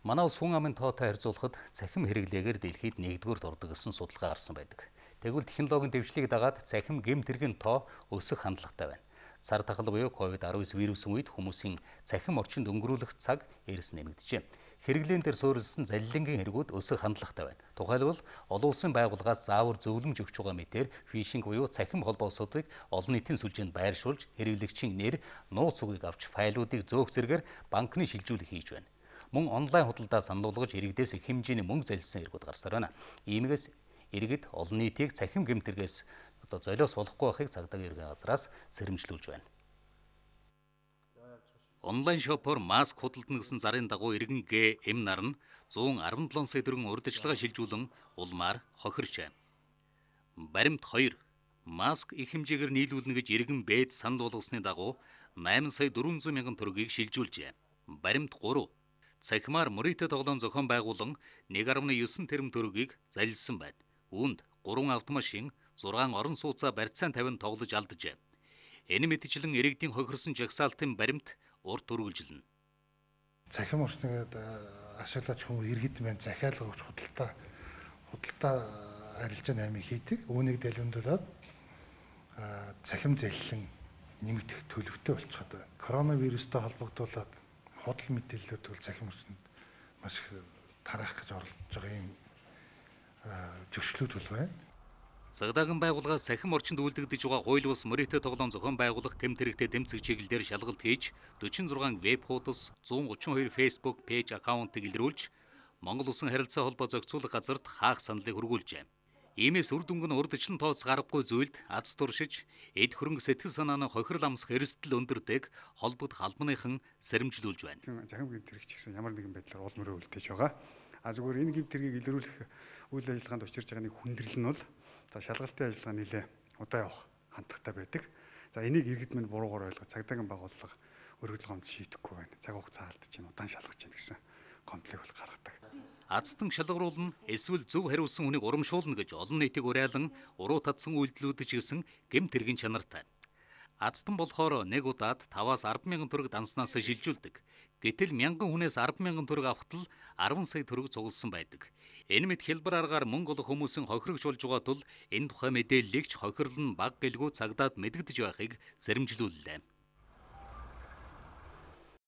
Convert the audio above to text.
Манай улс хүн амын тоотой харьцуулахад цахим хэрэглээгээр дэлхийд нэгдүгüүрт ордог гэсэн судалгаа гарсан байдаг. Тэгвэл технологийн дэвшлиг дагаад цахим гэмт хэргийн тоо өсөх хандлагатай байна. Сар тахал буюу COVID-19 вирусын үед хүмүүсийн цахим орчинд өнгөрүүлэх цаг эрс нэмэгдэжээ. Хэрэглээн дээр суурилсан залилангийн хэрэгүүд өсөх хандлагатай байна. Тухайлбал олон улсын байгууллагаас заавар зөвлөмж өгч байгаа мэтээр фишинг буюу цахим холбоосуудыг олон нийтийн сүлжээнд байршуулж хэрэглэгчийн нэр, нууц үгийг авч файлуудыг зөөх зэргээр банкны шилжүүлэг хийж байна. Мөн онлайн худалдаа санал болгож иргэдээс их хэмжээний мөнгө залилсан иргүүд гарсаар байна. Иймээс иргэд олон нийтийг цахим гэмтэргээс золиос болохгүй байхыг цагдаагийн ерхий газраас сэрэмжлүүлж байна. Онлайн шопоор маск худалдана гэсэн зарын дагуу иргэн ГМ нар нь 117 сая төгрөгийн урьдчилгаа шилжүүлэн улмаар хохирчээ. Баримт 2 маск их хэмжээгээр нийлүүлнэ гэж иргэн Б-д санал болгосны дагуу 8 сая 400 мянган төгрөгийг шилжүүлжээ. Баримт 3 цахимаар мөрийтэй тоглоом зохион байгуулан 1.9 тэрбум төгрөгийг залилсан байна. Үүнд 3 автомашин, 6 орон сууцаа барьцаан 50 тоглож алджээ. Энэ мэтчлэн иргэдийн хохирсон жагсаалтын баримт урт үргэлжилнэ. Цахим орчныг ашиглаж хүмүүс иргэд маань захиалга өгч худалдаа арилжаа 8 хийдэг. Үүнийг дэлгэмдүүлээд цахим залилан нэмэгдэх төлөвтэй болчиход байна. Коронавирустай холбогдуулаад худал мэдээллүүд бол цахим орчинд маш их тараах гэж оролдож байгаа юм зөрчлүүд бол байна. Цагдаагийн байгууллагаас цахим орчинд үйлдэгдэж байгаа хууль бус мөрийтэй тоглоом зохион байгуулах гэмт хэрэгтэй тэмцэх чиглэлээр шалгалт хийж 46 веб хуудас, 132 Facebook пэйж аккаунтыг илрүүлж Монгол Улсын харилцаа холбоо зохицуулах газарт хаах саналыг хургуулжээ. Иймээс үр дүнг нь урдчлан тооц гаргагүй зүйлд аз туршиж, эд хөрөнгө сэтгэл санааны хохирол амсах эрсдэл өндөртэйг холбогдох албаныхан сэрэмжлүүлж байна. Захим гэмт хэрэг ч гэсэн ямар нэгэн байдлаар улмөрөө үлдээж байгаа. Зүгээр энэ гэмт хэргийг илрүүлэх үйл ажиллагаанд учирч байгаа нэг хүндрэл нь бол шалгалтын ажиллагаа нэлээ удаа явах хандлагатай байдаг. Энийг иргэд минь буруугаар ойлгож цагдаагийн байгууллага өргөдөл гомд шийдэхгүй байна. Цаг хугацаа алдаж чинь удаан шалгаж чинь гэсэн комплект бол гаргадаг. Азтан шалгаруулна эсвэл зөв хариулсан хүнийг урамшуулна гэж олон нийтийг уриалан уруу татсан үйлдэлүүд ч гэсэн гэмт хэргийн чанартай. Азтан болохоор нэг удаад 5-аас 10 мянган төгрөг данснаас шилжүүлдэг. Гэтэл мянган хүнээс 10 мянган төгрөг авахт л 10 сая төгрөг цугласан байдаг. Энэ мэт хэлбэр аргаар мөнгө олох хүмүүсийн хохирогч болж байгаа тул энэ тухай мэдээллийг ч хохирол нь баг гэлгүй цагдаад мэдэгдэж байхыг сэрэмжлүүллээ.